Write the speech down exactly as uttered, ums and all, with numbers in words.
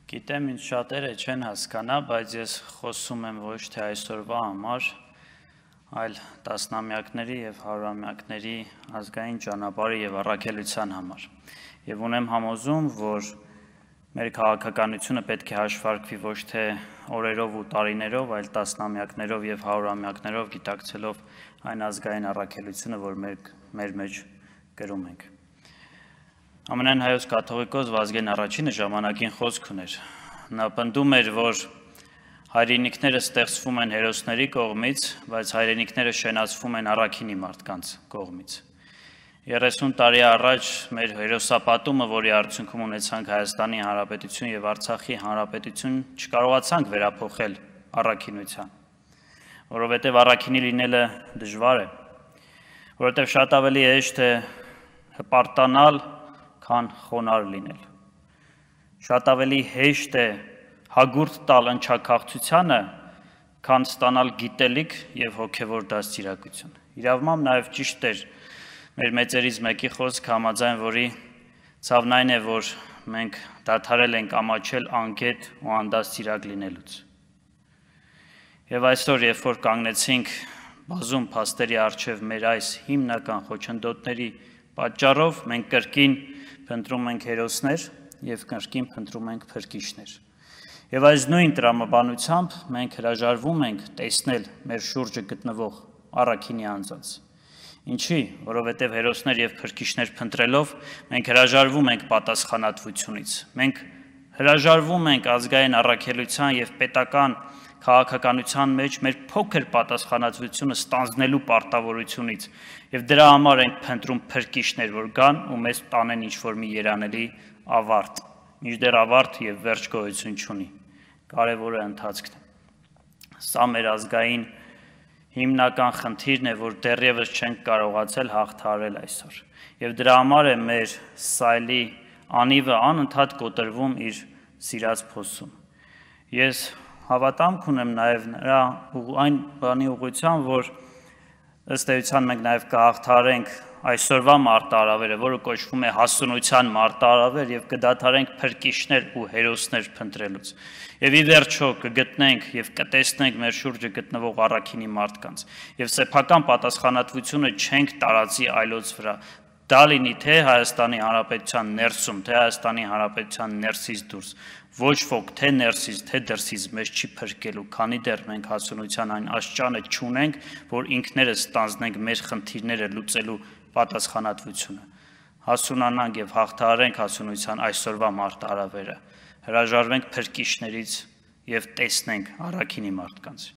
Գիտեմ, ինձ շատերը չեն հասկանա, բայց ես խոսում եմ ոչ թե այսօրվա համար, այլ տասնամյակների և հարյուրամյակների ազգային ճանապարհի և առաքելության համար։ Եվ ունեմ համոզում, որ մեր քաղաքականությունը պետք է հաշվարկվի ոչ թե օրերով ու տարիներով, այլ տասնամյակներով և հարյուրամյակներով գիտակցելով այն ազգային առաքելությունը, որ մեր մեջ կրում ենք։ Ամենայն հայոց կաթողիկոս Վազգեն առաջինը ժամանակին խոսք ուներ։ Նա պնդում էր, որ հայրենիքները ստեղծվում են հերոսների կողմից, բայց հայրենիքները շենացվում են առաքինի մարդկանց կողմից։ երեսուն տարի առաջ մեր հերոսապատումը, որի արդյունքում ունեցանք Հայաստանի Հանրապետություն և Արցախի Հանրապետություն, չկարողացանք վերափոխել առաքինության, որովհետև առաքինի լինելը դժվար է, որովհետև շատ ավելի հեշտ է հպարտանալ, քան խոնարհ լինել։ Շատ ավելի հեշտ է հագուրդ տալ ընչաքաղցությանը, քան ստանալ գիտելիք և հոգևոր դաստիարակություն։ Իրավամբ նաև ճիշտ էր մեր մեծերից մեկի խոսքը, համաձայն որի ցավն այն է, որ մենք դադարել ենք ամաչել անգետ ու անդաստիարակ լինելուց։ Եվ այսօր, երբ որ կանգնեցինք բազում փաստերի առջև մեր այս հիմնական խոչընդոտների պատճառով, մենք կրկին փնտրում ենք հերոսներ և կրկին փնտրում ենք փրկիչներ։ Եվ այս նույն տրամաբանությամբ մենք հրաժարվում ենք տեսնել մեր շուրջը գտնվող առաքինի անձանց։ Ինչի՞, որովհետև հերոսներ և փրկիչներ փնտրելով մենք հրաժարվում ենք պատասխանատվությունից։ Մենք հրաժարվում ենք ազգային առաքելության և պետական քաղաքականության մեջ մեր փոքր պատասխանատվությունը ստանձնելու պարտավորությունից և դրա համար ենք փնտրում փրկիչներ, որ գան ու մեզ տանեն ինչ-որ մի երանելի ավարտ, մինչդեռ ավարտ և վերջ գոյություն չունի, կարևորը ընթացքն է։ Սա մեր ազգային հիմնական խնդիրն է, որ դեռևս չենք կարողացել հաղթահարել այսօր, և դրա համար է մեր սայլի անիվը անընդհատ կոտրվում իր սիրած փոսում։ Ես հավատամք ունեմ նաև նրա այն բանի ուղղությամբ, որ ըստ էության մենք նաև կհաղթահարենք այսօրվա մարտահրավերը, որը կոչվում է հասունության մարտահրավեր, և կդադարենք փրկիչներ ու հերոսներ փնտրելուց։ Եվ ի վերջո կգտնենք և կտեսնենք մեր շուրջը գտնվող առաքինի մարդկանց։ Եվ սեփական պատասխանատվությունը չենք տարածի այլոց վրա։ Դա լինի թե Հայաստանի Հանրապետության ներսում, թե Հայաստանի Հանրապետության ներսից դուրս, ոչ ոք թե ներսից, թե դրսից մեզ չի փրկելու, քանի դեռ մենք հասունության այն աստիճանը չունենք, որ ինքներս ստանձնենք մեր խնդիրները լուծելու պատասխանատվությունը։ Հասունանանք և հաղթահարենք հասունության այսօրվա մարտահրավերը, հրաժարվենք փրկիչներից և տեսնենք առաքինի մարդկանց։